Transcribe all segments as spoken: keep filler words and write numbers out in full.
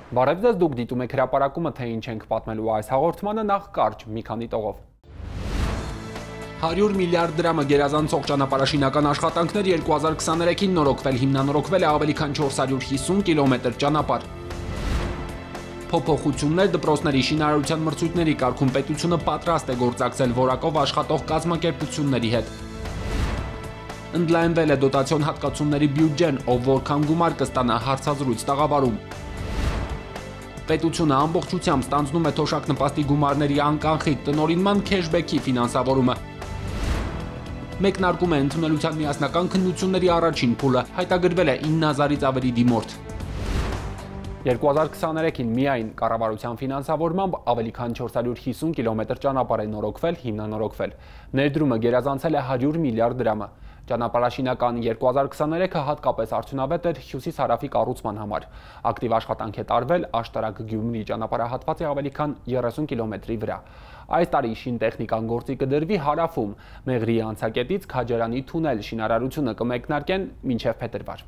Բարև ձեզ, դուք դիտում եք հրապարակումը, թե ինչ ենք պատմելու այս հաղորդմանը, նախ կարճ մի քանի տողով։ հարյուր միլիարդ դրամը գերազանցող ճանապարհաշինական աշխատանքներ երկու հազար քսաներեքին նորոգվել, հիմնանորոգվել է ավելի քան չորս հարյուր հիսուն կիլոմետր ճանապարհ։ Փոփոխություններ դպրոցների շինարարության մրցույթների կարգում պետությունը պատրաստ է գործակցել որակով աշխատող կազմակերպությունների հետ։ Ընդլայնվել է դոտացիոն հատկացումների բյուջեն, ով որքան գումար կստանա հարցազրույց տաղավարում։ Պետությունը ամբողջությամբ ստանձնում է թոշակ նպաստի գումարների անկանխիկ տնօրինման քեշբեքի ֆինանսավորումը։ Մեկնարկում է ընդունելության միասնական քննությունների առաջին փուլը, հայտագրվել է ինը հազարից ավելի դիմորդ։ երկու հազար քսաներեքին միայն կառավարության ֆինանսավորմամբ ավելի քան չորս հարյուր հիսուն կիլոմետր ճանապարհ է նորոգվել, հիմնանորոգվել։ Ներդրումը գերազանցել է հարյուր միլիարդ դրամը։ Ճանապարհաշինական երկու հազար քսաներեքը հատկապես արդյունավետ էր հյուսիս-հարավի կառուցման համար։ Ակտիվ աշխատանք է տարվել Աշտարակ-Գյումրի ճանապարհահատվածի ավելի քան երեսուն կիլոմետրի վրա։ Այս տարի շինտեխնիկան գործի կդրվի հարավում, Մեղրի անցակետից Քաջարանի թունել շինարարությունը կմեկնարկեն մինչև փետրվար։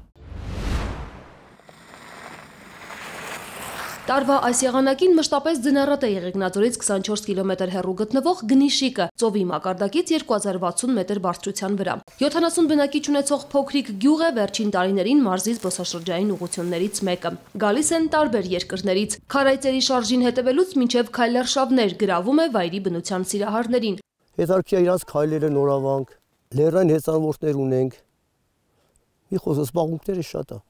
Տարվա այս եղանակին մշտապես ձնառատ է Եղեգնաձորից քսանչորս կիլոմետր հեռու գտնվող Գնիշիկը, ծովի մակարդակից երկու հազար վաթսուն մետր բարձրության վրա։ յոթանասուն բնակիչ ունեցող փոքրիկ գյուղ է, վերջին տարիներին մարզի զբոսաշրջային ուղղություններից մեկը։ Գալիս են տարբեր երկրներից։ Քարայծերի շարժին հետևելուց մինչև քայլարշավներ գրավում է վայրի բնության սիրահարներին։ Հետարքի իրանց քայլերը նորավանք, լեռնային հեծանվորդներ ունենք։ Մի խոսքը զբաղմունքները շատ է։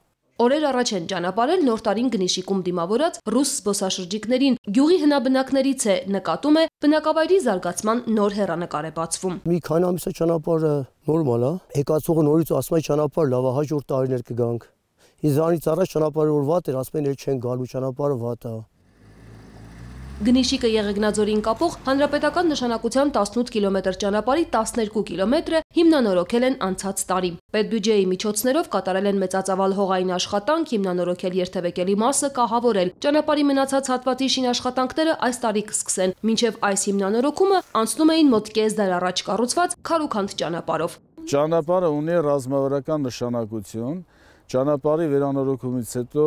Օրեր առաջ են ճանապարհել նոր տարին Գնիշիկում դիմավորած ռուս զբոսաշրջիկներին։ Գյուղի հնաբնակներից է, նկատում է, բնակավայրի զարգացման նոր հեռանկար է բացվում։ Մի քանի ամիս է ճանապարհը նորմալ է, եկածողը նորից ասում է ճանապարհ լավ է, հաջորդ տարիներ կգանք։ Իզանից առաջ ճանապարհը որ վատ էր, ասում են էլ չեն գալու, ճանապարհը վատ է։ Գնիշիկը Եղեգնաձորին կապող հանրապետական նշանակության տասնութ կիլոմետր ճանապարհի տասներկու կիլոմետրը հիմնանորոգել են անցած տարի։ Պետբյուջեի միջոցներով կատարել են մեծածավալ հողային աշխատանք, հիմնանորոգել երթևեկելի մասը, կահավորել։ Ճանապարհի մնացած հատվածի շինաշխատանքները այս տարի կսկսեն։ Մինչև այս հիմնանորոգումը անցնում էին մոտ կես դար առաջ կառուցված քարուքանդ ճանապարհով։ Ճանապարհը ունի ռազմավարական նշանակություն։ Ճանապարհի վերանորոգումից հետո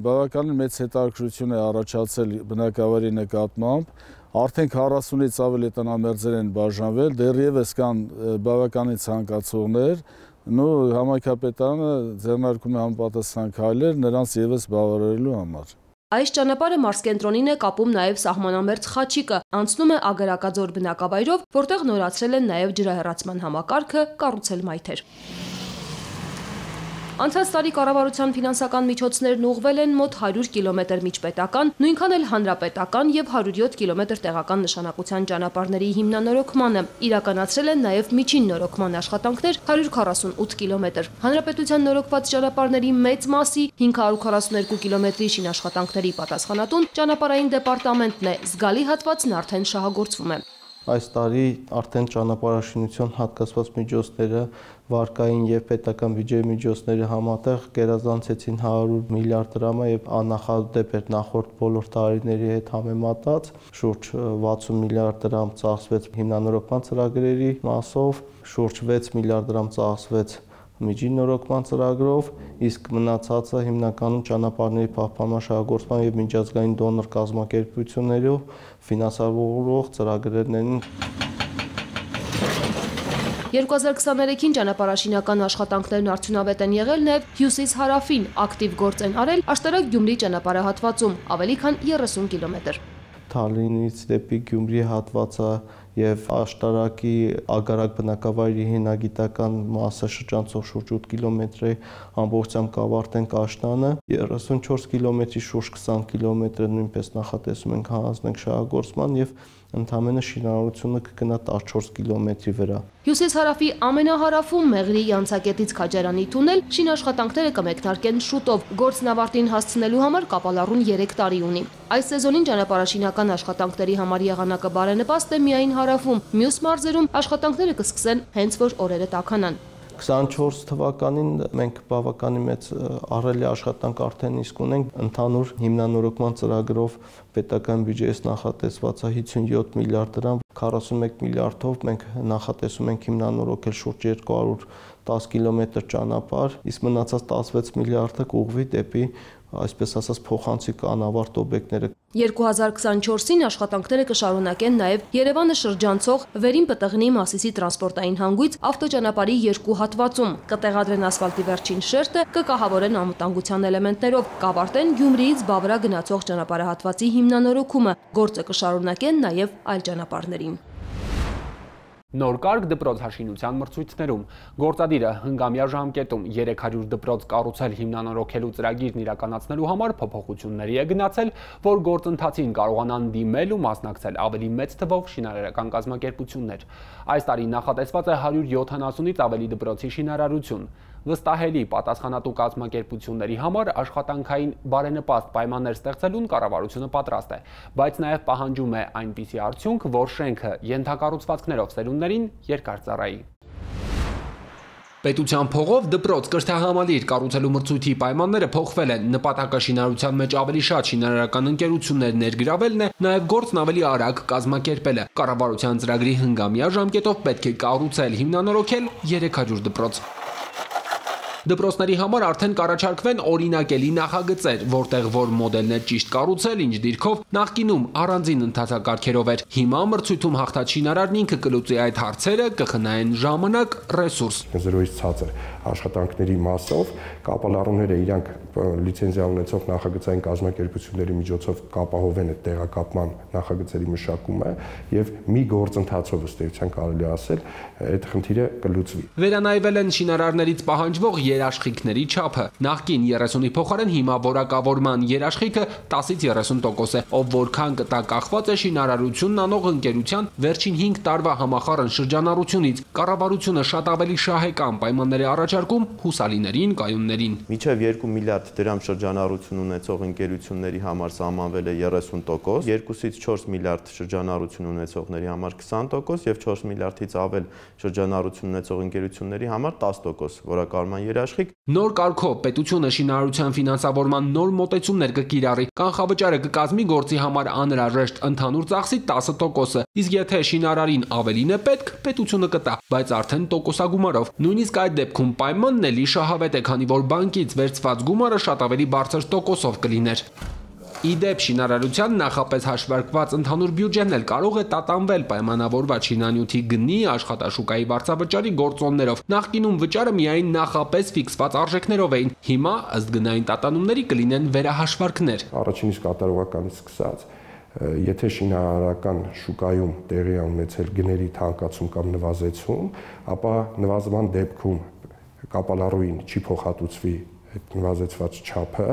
բավականին մեծ հետաքրքրություն է առաջացել բնակավայրի նկատմամբ, արդեն քառասունից ավելի տնամերձեր են բաժանվել, դեռևս կան բավականին ցանկացողներ, ու համայնքապետարանը ձեռնարկում է համապատասխան քայլեր նրանց ևս բավարարելու համար։ Այս ճանապարհը մարզկենտրոնին է կապում նաև սահմանամերձ Խաչիկը, անցնում է Ագարակաձոր բնակավայրով, որտեղ նորացրել են նաև ջրահեռացման համակարգը, կառուցել մայթեր։ Անցած տարի կառավարության ֆինանսական միջոցներն ուղղվել են մոտ հարյուր կիլոմետր միջպետական, նույնքան էլ հանրապետական եւ հարյուր յոթ կիլոմետր տեղական նշանակության ճանապարհների հիմնանորոգմանը։ Իրականացրել են նաև միջին նորոգման աշխատանքներ հարյուր քառասունութ կիլոմետր։ Հանրապետության նորոգված ճանապարհների մեծ մասի հինգ հարյուր քառասուներկու կիլոմետրի շինաշխատանքների պատասխանատուն ճանապարհային դեպարտամենտն է, զգալի հատվածն արդեն շահագործվում է։ Այս տարի արդեն ճանապարհաշինության հատկացված միջոցները, վարկային եւ պետական բյուջեի միջոցները համատեղ գերազանցեցին հարյուր միլիարդ դրամը եւ աննախադեպ էր նախորդ բոլոր տարիների հետ համեմատած, շուրջ վաթսուն միլիարդ դրամ ծախսվեց հիմնանորոգման ծրագրերի մասով, շուրջ վեց միլիարդ դրամ ծախսվեց միջին նորոգման ծրագրով, իսկ մնացածը հիմնականում ճանապարհների պահպանման շահագործման եւ միջազգային դոնոր կազմակերպություններով ֆինանսավորող ծրագրերն։ երկու հազար քսաներեքին ճանապարհաշինական աշխատանքներն արդյունավետ են եղել նաև հյուսիս-հարավին, ակտիվ գործ են արել Աշտարակ-Գյումրի ճանապարհահատվածում, ավելի քան երեսուն կիլոմետր։ Թալինից դեպի Գյումրի հատվածը եւ Աշտարակի Ագարակ բնակավայրի հինագիտական մասը շրջանցող շուրջ ութ կիլոմետրի ամբողջությամբ կավարտենք աշտանը, երեսունչորս կիլոմետրի շուրջ քսան կիլոմետրը նույնպես նախատեսում ենք հանձնենք շահագործման եւ ընդամենը շինարարությունը կգնա տասնչորս կիլոմետրի վրա։ Հյուսիս-հարավի ամենահարավում Մեղրի անցակետից Քաջարանի թունել շինաշխատանքները կմեկնարկեն շուտով։ Գործն ավարտին հասցնելու համար կապալառուն երեք տարի ունի։ Այս սեզոնին ճանապարհաշինական աշխատանքների համար եղանակը բարենպաստ է միայն հարավում, մյուս մարզերում աշխատանքները կսկսեն հենց որ օրերը տաքանան։ քսանչորս թվականին մենք բավականին մեծ ահռելի աշխատանք արդեն իսկ ունենք ընդհանուր հիմնանորոգման ծրագրով պետական բյուջեից նախատեսված է հիսունյոթ միլիարդ դրամ, քառասունմեկ միլիարդով մենք նախատեսում ենք հիմնանորոգել շուրջ երկու հարյուր տասը կիլոմետր ճանապարհ, իսկ մնացած տասնվեց միլիարդը կուղղվի դեպի, այսպես ասած, փոխանցիկ անավարտ օբյեկտները։ երկու հազար քսանչորսին աշխատանքները կշարունակեն նաև Երևանը շրջանցող Վերին Պտղնի Մասիսի տրանսպորտային հանգույց ավտոճանապարհի երկու հատվածում, կտեղադրեն ասֆալտի վերջին շերտը, կկահավորեն անվտանգության էլեմենտներով, կավարտեն Գյումրիից Բավրա գնացող ճանապարհահատվածի հիմնանորոգումը, գործը կշարունակեն նաև այլ ճանապարհներին։ Նոր կարգ դպրոց հաշինության մրցույթներում գործադիրը հնգամյա ժամկետում երեք հարյուր դպրոց կառուցել հիմնանորոգելու ծրագիրն իրականացնելու համար փոփոխությունների է գնացել, որ գործընթացին կարողանան դիմել ու մասնակցել ավելի մեծ թվով շինարարական կազմակերպություններ։ Այս տարի նախատեսված է հարյուր յոթանասունից ավելի դպրոցի շինարարություն։ Վստահելի պատասխանատու կազմակերպությունների համար աշխատանքային բարենպաստ պայմաններ ստեղծելուն կառավարությունը պատրաստ է, բայց նաև պահանջում է այնպիսի արդյունք, որ շենքը ենթակառուցվածքներով սերունդներին երկար ծառայի։ Պետության փողով դպրոց կրթահամալիր կառուցելու մրցույթի պայմանները փոխվել են, նպատակը շինարարության մեջ ավելի շատ շինարարական ընկերություններ ներգրավելն է, նաև գործն ավելի արագ կազմակերպելը։ Կառավարության ծրագրի հնգամյա ժամկետով պետք է կառուցել, հիմնանորոգել երեք հարյուր դպրոց։ Դպրոցների համար արդեն կառաջարկվեն օրինակելի նախագծեր, որտեղ որ մոդելն է ճիշտ կառուցել, ինչ դիրքով, նախկինում առանձին ընթացակարգերով էր։ Հիմա մրցույթում հաղթած շինարարն ինքը կլուծի այդ հարցերը, կխնայեն ժամանակ, ռեսուրս։ Զրոյից ցածր աշխատանքների մասով կապալառուները իրանք լիցենզիա ունեցող նախագծային կազմակերպությունների միջոցով կապահովեն այդ տեղակապման նախագծերի մշակումը եւ մի գործընթացով ըստ էության կարելի ասել այդ խնդիրը կլուծվի։ Վերանայվել են շինարարներից պահանջվող երաշխիքների չափը։ Նախկին երեսունի փոխարեն հիմա որակավորման երաշխիքը տասից երեսուն տոկոս է, ով որքան կտա կախված է շինարարությունն անող ընկերության վերջին հինգ տարվա համախառն շրջանառությունից։ Կառավարությունը շատ ավելի շահեկան պայմաններ է առաջարկում հուսալիներին, կայուններին։ Մինչև երկու միլիարդ դրամ շրջանառություն ունեցող ընկերությունների համար սահմանվել է երեսուն տոկոս, երկուսից չորս միլիարդ շրջանառություն ունեցողների համար քսան տոկոս եւ չորս միլիարդից ավել շրջանառություն ունեցող ընկերությունների համար տասը տոկոս որակավորման երաշխիք։ Նոր կարգով պետությունը շինարարության ֆինանսավորման նոր մոտեցումներ կկիրառի, կանխավճարը կկազմի գործի համար անհրաժեշտ ընդհանուր ծախսի տասը տոկոսը, իսկ եթե շինարարին ավելին է պետք, պետությունը կտա, բայց արդեն տոկոսագումարով։ Նույնիսկ այդ դեպքում պայմանն էլի շահավետ է, քանի որ բանկից վերցված գումարը շատ ավելի բարձր տոկոսով կլիներ։ Իդեպ շինարարության նախապես հաշվարկված ընդհանուր բյուջեն էլ կարող է տատանվել պայմանավորված շինանյութի գնի, աշխատաշուկայի վարձավճարի գործոններով։ Նախկինում վճարը միայն նախապես ֆիքսված արժեքներով էին, հիմա ըստ գնային տատանումների կլինեն վերահաշվարկներ։ Առաջին իսկ կատարողականից սկսած, եթե շինարարական շուկայում տեղի է ունեցել գների թանկացում կամ նվազեցում, ապա նվազման դեպքում կապալառուին չի փոխհատուցվի այդ նվազեցված չափը,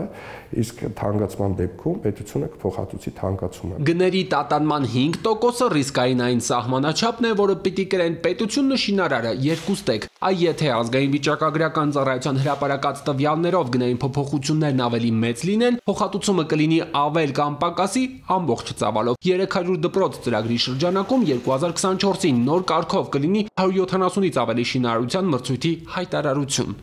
իսկ թանկացման դեպքում պետությունը կփոխհատուցի թանկացումը։ Գների տատանման հինգ տոկոսը ռիսկային այն սահմանաչափն է, որը պիտի կրեն պետությունն ու շինարարը երկուստեք։ Այ եթե ազգային վիճակագրական ծառայության հրապարակած տվյալներով գնային փոփոխություններն ավելի մեծ լինեն, փոխհատուցումը կլինի ավել կամ պակասի ամբողջ ծավալով։ երեք հարյուր դպրոց ծրագրի շրջանակում երկու հազար քսանչորսին նոր կարգով կլինի հարյուր յոթանասունից ավելի շինարարության մրցույթի հայտարարություն։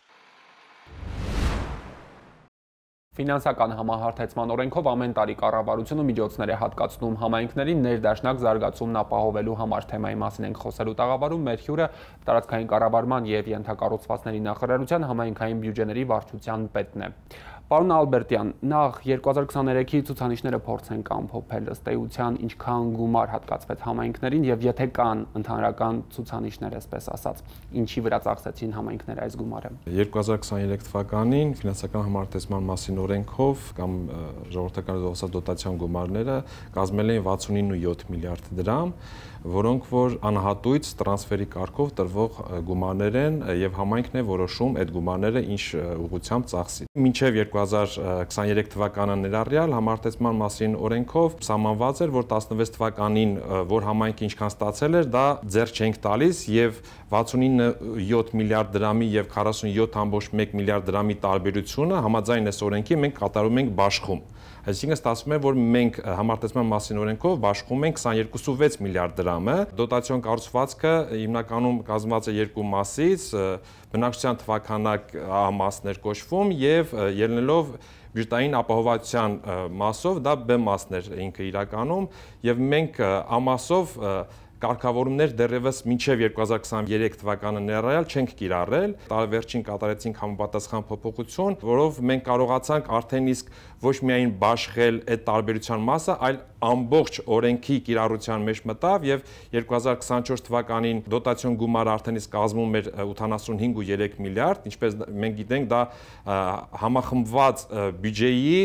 Ֆինանսական համահարթեցման օրենքով ամեն տարի կառավարությունը միջոցներ է հատկացնում համայնքներին ներդաշնակ զարգացումն ապահովելու համար։ Թեմայի մասին ենք խոսելու տաղավարում մեր հյուրը տարածքային կառավարման եւ ենթակառուցվածքների նախարարության համայնքային բյուջեների վարչության պետն է։ Պարոն Ալբերտյան, նախ երկու հազար քսաներեքի ցուցանիշները փորձենք ամփոփել, ըստ էության ինչքան գումար հատկացվեց համայնքներին եւ եթե կան ընդհանրական ցուցանիշներ, այսպես ասած, ինչի վրա ծախսեցին համայնքները այս գումարը։ երկու հազար քսաներեք թվականին ֆինանսական համարտեսման մասին օրենքով կամ ժողովրդական դոտացիոն գումարները կազմել էին վաթսունինը յոթ միլիարդ դրամ, որոնք որ անհատույց տրանսֆերի կարգով տրվող գումարներ են եւ համայնքն է որոշում այդ գումարները ինչ ուղղությամբ ծախսի։ Մինչեւ երկու հազար քսաներեք թվականը ներառյալ համարտեսման մասին օրենքով սահմանված էր, որ տասնվեց թվականին որ համայնքը ինչքան ստացել էր, դա ձեռք չենք տալիս եւ վաթսունինը յոթ միլիարդ դրամի եւ քառասունյոթ կόμμα մեկ միլիարդ դրամի տարբերությունը համաձայն այս օրենքի մենք կատարում ենք բաշխում։ Այսինքն ստացվում է, որ մենք համարտեսման մասին օրենքով բաշխում ենք քսաներկու միլիարդ դրամը։ Դոտացիոն կառուցվածքը հիմնականում կազմված է երկու մասից, բնակչության թվականակ A մասներ կոչվում եւ ելնելով բյուջետային ապահովության մասով դա B մասներ ինքը իրականում եւ մենք A մասով կարգավորումներ դեռևս մինչև երկու հազար քսաներեք թվականը ներառյալ չենք կիրառել։ Տարեվերջին կատարեցինք համապատասխան փոփոխություն, որով մենք կարողացանք արդեն իսկ ոչ միայն բաշխել այդ տարբերության մասը, այլ ամբողջ օրենքի կիրառության մեջ մտավ եւ երկու հազար քսանչորս թվականին դոտացիոն գումարը արդեն իսկ կազմում էր ութանասունհինգ կոմ երեք միլիարդ, ինչպես մենք գիտենք, դա համախմբված բյուջեի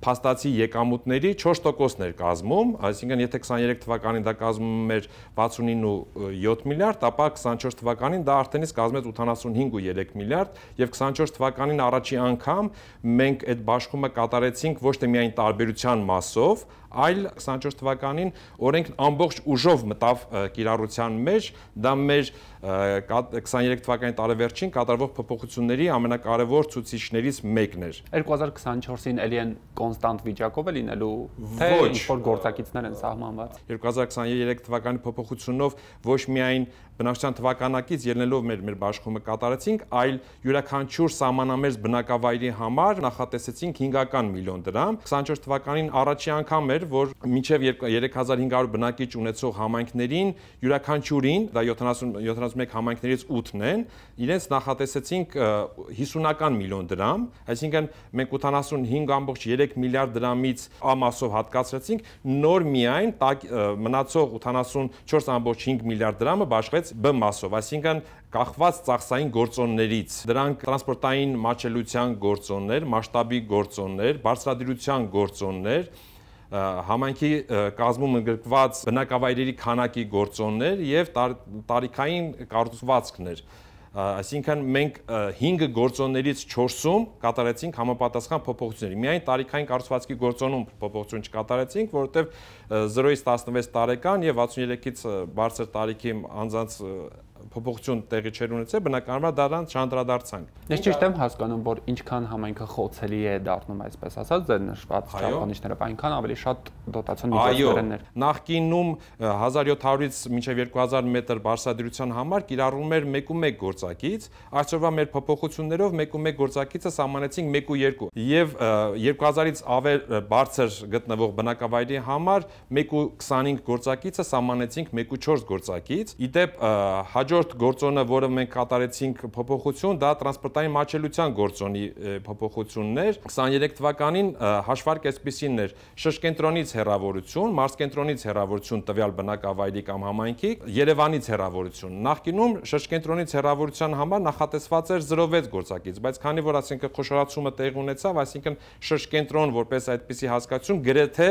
փաստացի եկամուտների չորս տոկոսն էր կազմում, այսինքն եթե քսաներեք թվականին դա կազմում էր վաթսունինը ու յոթ միլիարդ, ապա քսանչորս թվականին դա արդեն իսկ կազմեց ութանասունհինգ կոմ երեք միլիարդ եւ քսանչորս թվականին առաջի անգամ մենք այդ բաշխումը կատարեցինք ոչ թե միայն տարբերության մասով, այլ քսանչորս թվականին օրենքն ամբողջ ուժով մտավ կիրառության մեջ, դա մեր քսաներեք թվականի տարեվերջին կատարվող փոփոխությունների ամենակարևոր ցուցիչներից մեկն էր։ երկու հազար քսանչորսին էլի են կոնստանտ վիճակով է լինելու, թե ինչ-որ գործակիցներ են սահմանված։ երկու հազար քսաներեք թվականի փոփոխությունով ոչ միայն բնակչության թվականակից ելնելով մեր մեր բաշխումը կատարեցինք, այլ յուրաքանչյուր սահմանամերձ բնակավայրի համար նախատեսեցինք հինգական միլիոն դրամ։ քսանչորս թվականին առաջի անգամ էր, որ մինչև երեք հազար հինգ հարյուր բնակիչ ունեցող համայնքներին յուրաքանչյուրին, դա յոթանասունմեկ համայնքներից ութն են, իրենց նախատեսեցինք հիսունական միլիոն դրամ, այսինքն մենք ութանասունհինգ կոմ երեք միլիարդ դրամից ամասով հատկացրեցինք, նոր միայն մնացող ութանասունչորս կոմ հինգ միլիարդ դրամը բաշխվեց B մասով, այսինքն կախված ծախսային գործոններից, դրանք տրանսպորտային մատչելիության գործոններ, մասշտաբի գործոններ, բարձրադիրության գործոններ, համայնքի կազմում ընդգրկված բնակավայրերի քանակի գործոններ եւ տարիքային կառուցվածքներ։ Այսինքն մենք հինգ գործոններից չորսում կատարեցինք համապատասխան փոփոխություններ։ Միայն տարիքային կառուցվածքի գործոնում փոփոխություն չկատարեցինք, որովհետև զրոյից տասնվեց տարեկան եւ վաթսուներեքից բարձր տարիքի անձանց փոփոխություն տեղի չեր ունեցել, բնականաբար դրան չանդրադարձանք։ Ես ճիշտ եմ հասկանում, որ ինչքան համայնքը խոցելի է դառնում, այսպես ասած, ձեր նշված չափանիշներով, այնքան ավելի շատ դոտացիոն միջոցներ են։ Նախկինում հազար յոթ հարյուրից մինչև երկու հազար մետր բարձրադիրության համար կիրառվում էր մեկ ու մեկ գործակից, այսօրվա մեր փոփոխություններով մեկ ու մեկ գործակիցը սահմանեցինք մեկ ու երկու։ Եվ երկու հազարից ավել բարձր գտնվող բնակավայրի համար մեկ ու քսանհինգ գործակիցը սահմանեցինք մեկ ու չորս գործակից։ Իդեպ հաջորդ գործոնը, որը մենք կատարեցինք փոփոխություն, դա տրանսպորտային մատչելիության գործոնի փոփոխությունն էր։ քսաներեք թվականին հաշվարկ այսպիսին էր՝ շրջկենտրոնից հեռավորություն, մարզկենտրոնից հեռավորություն տվյալ բնակավայրի կամ համայնքի, Երևանից հեռավորություն։ Նախկինում շրջկենտրոնից հեռավորության համար նախատեսված էր զրո վեց գործակից, բայց քանի որ ասենք խոշորացումը տեղի ունեցավ, այսինքն շրջկենտրոն որպես այդպիսի հասկացություն գրեթե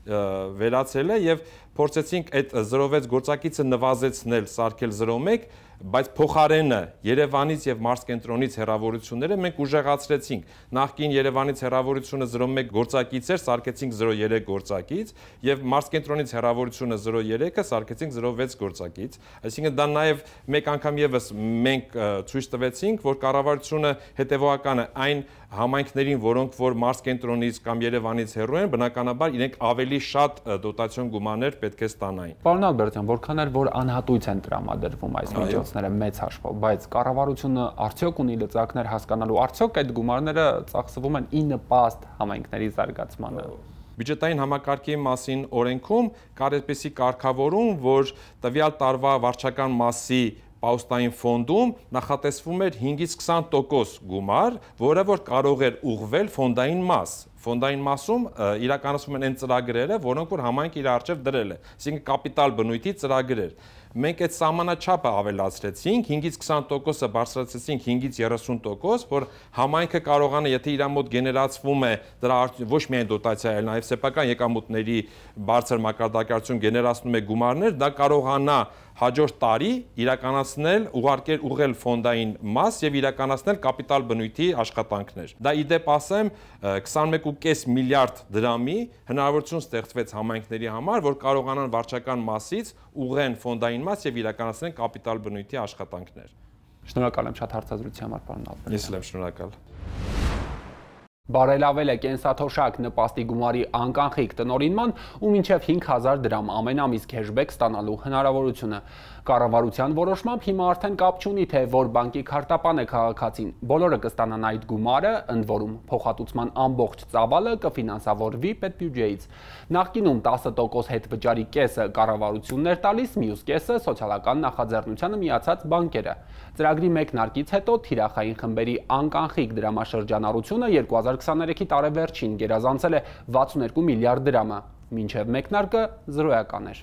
վերացել է եւ փորձեցինք այդ զրո վեց գործակիցը նվազեցնել, սարքել զրո մեկ, բայց փոխարենը Երևանից եւ մարզկենտրոնից հեռավորությունները մենք ուժեղացրեցինք։ Նախկին Երևանից հեռավորությունը զրո մեկ գործակից էր, սարքեցինք զրո երեք գործակից եւ մարզկենտրոնից հեռավորությունը զրո երեքը սարքեցինք զրո վեց գործակից։ Այսինքն դա նաեւ մեկ անգամ եւս մենք ցույց տվեցինք, որ կառավարությունը հետեւողական է այն համայնքներին, որոնք որ մարզկենտրոնից կամ Երևանից հեռու են, բնականաբար իրենք ավելի շատ դոտացիոն գումարներ պետք է ստանային։ Պարոն Ալբերտյան, որքան էլ որ անհատույց են տրամադրվում այս միջոցները մեծ հաշվով, բայց կառավարությունը արդյոք ունի լծակներ հասկանալու, արդյոք այդ գումարները ծախսվում են ի նպաստ համայնքների զարգացմանը։ Բյուջետային համակարգի մասին օրենքում կար այդպիսի կարգավորում, որ տվյալ տարվա վարչական մասի պաուստային ֆոնդում նախատեսվում էր հինգից քսան տոկոս գումար, որը որ կարող էր ուղղվել ֆոնդային մաս։ Ֆոնդային մասում իրականացվում են այն ծրագրերը, որոնք որ համայնքը իր առջև դրել է, այսինքն կապիտալ բնույթի ծրագրեր։ Մենք այդ սահմանաչափը ավելացրեցինք, հինգից քսան տոկոսը բարձրացրեցինք հինգից երեսուն տոկոս, որ համայնքը կարողանա, եթե իր մոտ գեներացվում է դրա ոչ միայն դոտացիա, այլ նաև սեփական եկամուտների բարձր մակարդակություն գեներացնում է գումարներ, դա կարողանա հաջորդ տարի իրականացնել, ուղարկել ուղղել ֆոնդային մաս եւ իրականացնել կապիտալ բնույթի աշխատանքներ։ Դա ի դեպ ասեմ քսանմեկ կոմ պինգ միլիարդ դրամի հնարավորություն ստեղծվեց համայնքների համար, որ կարողանան վարչական մասից ուղղեն ֆոնդային մաս եւ իրականացնեն կապիտալ բնույթի աշխատանքներ։ Շնորհակալ եմ շատ հարցազրույցի համար, պարոն Ալբերտյան։ Ես էլ եմ շնորհակալ։ Բարելավել է կենսաթոշակ նպաստի գումարի անկանխիկ տնօրինման ու մինչև հինգ հազար դրամ ամեն ամիս քեշբեք ստանալու հնարավորությունը։ Կառավարության որոշմամբ հիմա արդեն կապ չունի, թե որ բանկի քարտապան է քաղաքացին, բոլորը կստանան այդ գումարը, ընդ որում փոխհատուցման ամբողջ ծավալը կֆինանսավորվի պետբյուջեից։ Նախկինում տասը տոկոս հետվճարի կեսը կառավարությունն էր տալիս, մյուս կեսը սոցիալական նախաձեռնությանը միացած բանկերը։ Ծրագրի մեկնարկից հետո թիրախային խմբերի անկանխիկ դրամաշրջանառությունը երկու հազար քսաներեքի տարեվերջին գերազանցել է վաթսունեքու միլիարդ դրամը, մինչև մեկնարկը զրոյական էր։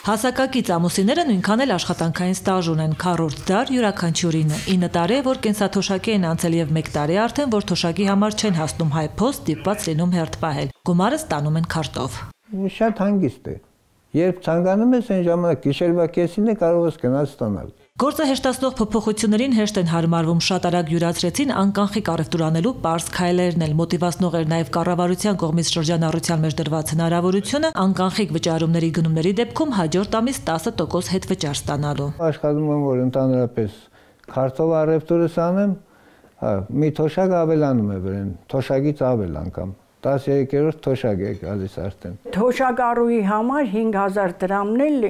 Հասակակից ամուսինները նույնքան էլ աշխատանքային ստաժ ունեն, քառորդ դար յուրաքանչյուրինը, ինը տարի է, որ կենսաթոշակի են անցել եւ մեկ տարի արդեն, որ թոշակի համար չեն հասնում հայ-փոստ, դիպված լինում հերթ պահել։ Գումարը ստանում են քարտով։ Շատ հանգիստ է։ Երբ ցանկանում ես այն ժամանակ գիշերվա կեսին է կարող ես գնալ ստանալ։ Գործը հեշտացնող փոփոխություններին հեշտ են հարմարվում, շատ արագ յուրացրեցին անկանխիկ առևտուր անելու պարզ քայլերն էլ, մոտիվացնող էր նաև կառավարության կողմից շրջանառության մեջ դրված հնարավորությունը անկանխիկ վճարումների գնումների դեպքում հաջորդ ամիս տասը տոկոս հետվճար ստանալու։ Աշխատում եմ, որ ընդհանրապես քարտով առևտուրս անեմ, մի թոշակ ավելանում է վրան, թոշակից ավել անգամ։ տասներորդ թոշակ է գալիս արդեն։ Թոշակառուի համար հինգ հազար դրամն էլ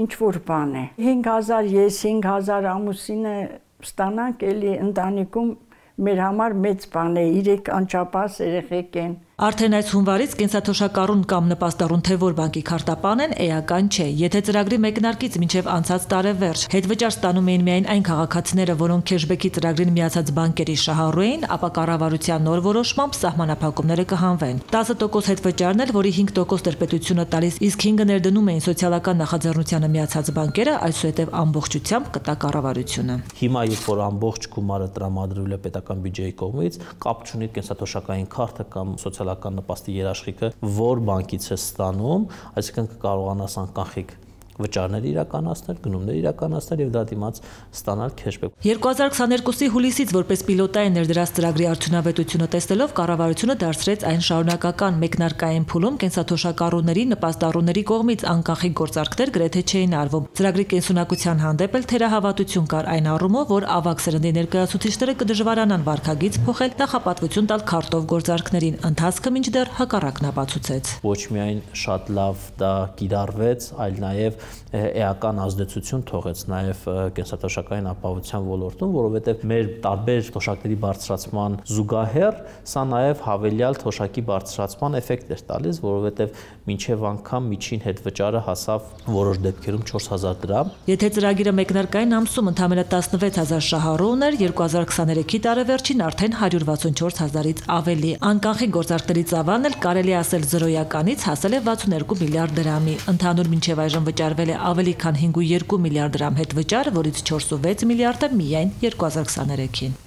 ինչ որ բան է։ հինգ հազար ես, հինգ հազար ամուսինը ստանանք, էլի ընտանիքում մեր համար մեծ բան է, իրեք անչափահաս երեխեք են։ Արդեն այս հունվարից կենսաթոշակառուն կամ նպաստառուն թե որ բանկի քարտապան են, էական չէ։ Եթե ծրագրի մեկնարկից մինչև անցած տարեվերջ հետվճար ստանում էին միայն այն քաղաքացիները, որոնք քեշբեքի ծրագրին միացած բանկերի շահառու էին, ապա կառավարության նոր որոշմամբ սահմանափակումները կհանվեն։ տասը տոկոս հետվճարն էլ, որի հինգ տոկոս տրպետությունը տալիս, իսկ հինգը ներդնում էին սոցիալական նախաձեռնությանը միացած բանկերը, այսուհետև ամբողջությամբ կտա կառավարությունը։ Հիմա երբ որ ամբողջ գումարը տրամադրվել է պետական բյուջեի կողմից, կապ չունի կենսաթոշակային քարտը կամ սոցիալական նպաստի երաշխիքը, որ բանկից է ստանում, այսինքն կկարողանաս անկանխիկ վճարներ իրականացնել, գնումներ իրականացնել եւ դրա դիմաց ստանալ քեշբեք։ երկու հազար քսաներկուսի հուլիսից որպես պիլոտային ներդրած ծրագրի արդյունավետությունը տեսնելով կառավարությունը դարձրեց այն շարունակական մեկնարկային փուլում կենսաթոշակառուների, նպաստառուների կողմից անկանխիկ գործարքներ գրեթե չէին արվում։ Ծրագրի կենսունակության հանդեպ էլ թերահավատություն կար այն առումով, որ ավագ սերնդի ներկայացուցիչները կդժվարանան վարքագիծ փոխել, նախապատվություն տալ քարտով գործարքներին, ընթացքը մինչդեռ հակառակն ապացուցեց։ Ոչ միայն շատ լավ դա կիրառվեց, այլ նաեւ էական ազդեցություն թողեց նաև կենսաթոշակային ապահովության ոլորտում, որովհետև մեր տարբեր թոշակների բարձրացման զուգահեռ սա նաև հավելյալ թոշակի բարձրացման էֆեկտ էր տալիս, որովհետև մինչև անգամ միջին հետվճարը հասավ որոշ դեպքերում չորս հազար դրամ։ Եթե ծրագիրը մեկնարկային ամսում ընդամենը տասնվեց հազար շահառու ուներ, երկու հազար քսաներեքի տարեվերջին արդեն հարյուր վաթսունչորս հազարից ավելի։ Անկանխիկ գործարքների ծավալն էլ կարելի ասել զրոյականից հասել է վաթսուներկու միլիարդ դրամի։ Ընդհանուր մինչև այժմ վճարվել է ավելի քան հինգ կόμμα երկու միլիարդ դրամ հետվճար, որից չորս կόμμα վեց միլիարդը միայն երկու հազար քսաներեքին։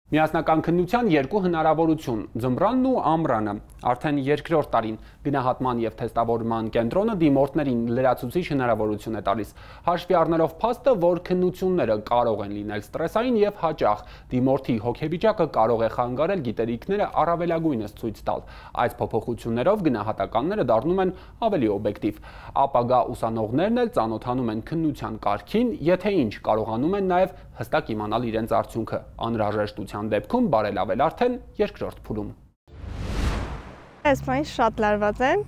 Միասնական քննության երկու հնարավորություն՝ ձմռանն ու ամռանը։ Արդեն երկրորդ տարին գնահատման և թեստավորման կենտրոնը դիմորդներին լրացուցիչ հնարավորություն է տալիս, հաշվի առնելով փաստը, որ քննությունները կարող են լինել ստրեսային և հաճախ, դիմորդի հոգեվիճակը կարող է խանգարել գիտելիքները առավելագույնս ցույց տալ։ Այս փոփոխություններով գնահատականները դառնում են ավելի օբյեկտիվ։ Ապագա ուսանողներն էլ ծանոթանում են քննության կարգին, եթե ինչ կարողանում են նաև հստակ իմանալ իրենց արդյունքը, անհրաժեշտության դեպքում բարելավել արդեն երկրորդ փուլում։ Այս բանը շատ լարված են,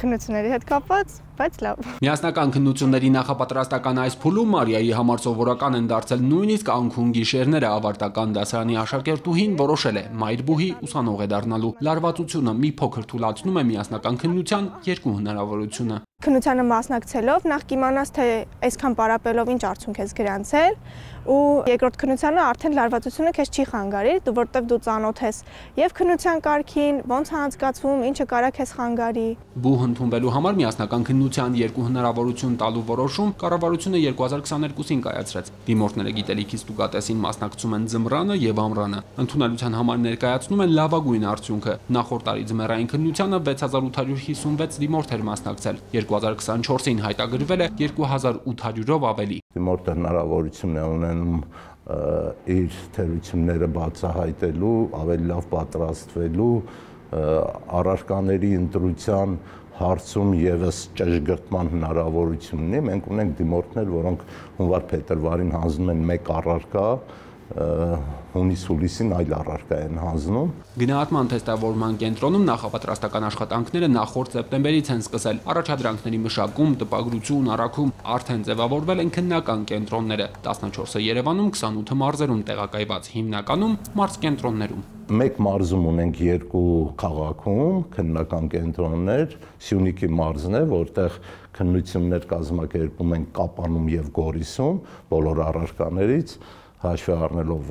քննությունների հետ կապված, բայց լավ։ Միասնական քննությունների նախապատրաստական այս փուլում Մարիայի համար սովորական են դարձել նույնիսկ անքուն գիշերները ավարտական դասարանի աշակերտուհին որոշել է մայրբուհի ուսանող է դառնալու։ Լարվածությունը մի փոքր թուլացնում է միասնական քննության երկու հնարավորությունը։ Քննությանը մասնակցելով նախ կիմանաս, թե այսքան պարապելով ինչ արդյունք ես գրանցել, ու երկրորդ քննությանը արդեն լարվածությունը քեզ չի խանգարի, որովհետև դու ծանոթ ես եւ քննության կարգին, ոնց է անցկացվում, ինչը կարա քեզ խանգարի։ Բուհ ընդունվելու համար միասնական քննության երկու հնարավորություն տալու որոշում կառավարությունը երկու հազար քսաներկուսին կայացրեց։ Դիմորդները գիտելիքի ստուգատեսին մասնակցում են ձմռանը եւ ամռանը։ Ընդունելության համար ներկայացնում են լավագույն արդյունքը։ Նախորդ տարի ձմեռային քննությանը վեց հազար ութ հարյուր հիսունվեց դիմորդ էր մասնակցել։ երկու հազար քսանչորսին հայտագրվել է երկու հազար ութ հարյուրով ավելի։ Դիմորդը հնարավորություն է ունենում իր թերությունները բացահայտելու, ավելի լավ պատրաստվելու, առարկաների ընտրության հարցում եւս ճշգրտման հնարավորություն ունի։ Մենք ունենք դիմորդներ, որոնք հունվար-փետրվարին հանձնում են մեկ առարկա, հունիս-հուլիսին այլ առարկա են հանձնում։ Գնահատման թեստավորման կենտրոնում նախապատրաստական աշխատանքները նախորդ սեպտեմբերից են սկսել։ Առաջադրանքների մշակում, տպագրություն, առաքում արդեն ձևավորվել են քննական կենտրոնները։ տասնչորսը Երևանում, քսանութը մարզերում տեղակայված, հիմնականում մարզկենտրոններում։ Մեկ մարզում ունենք երկու քաղաքում քննական կենտրոններ, Սյունիքի մարզն է, որտեղ քննություններ կազմակերպում են Կապանում եւ Գորիսում բոլոր առարկաներից, հաշվի առնելով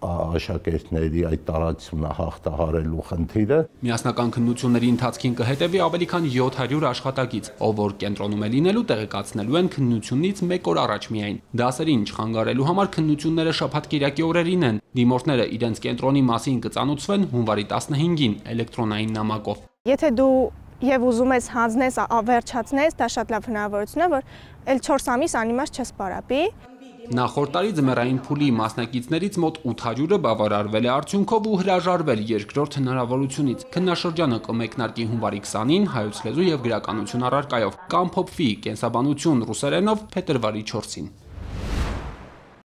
աշակերտների այդ տարածությունը հաղթահարելու խնդիրը։ Միասնական քննությունների ընթացքին կհետևի ավելի քան յոթ հարյուր աշխատակից, ով որ կենտրոնում է լինելու տեղեկացնելու են քննությունից մեկ օր առաջ միայն։ Դասերին չխանգարելու համար քննությունները շաբաթ-կիրակի օրերին են։ Դիմորդները իրենց կենտրոնի մասին կծանոթվեն հունվարի տասնհինգին էլեկտրոնային նամակով։ Եթե դու եւ ուզում ես հանձնես, վերջացնես, դա շատ լավ հնարավորություն է, որ էլ չորս ամիս անիմաց չես պարապի։ Նախորդ տարի ձմեռային փուլի մասնակիցներից մոտ ութ հարյուրը բավարարվել է արդյունքով ու հրաժարվել երկրորդ հնարավորությունից։ Քննաշրջանը կմեկնարկի հունվարի քսանին հայոց լեզու եւ գրականություն առարկայով, կամփոփվի կենսաբանություն ռուսերենով փետրվարի չորսին։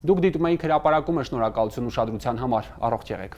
Դուք դիտում եք հրապարակումը, շնորհակալություն ուշադրության համար, առողջ եղեք։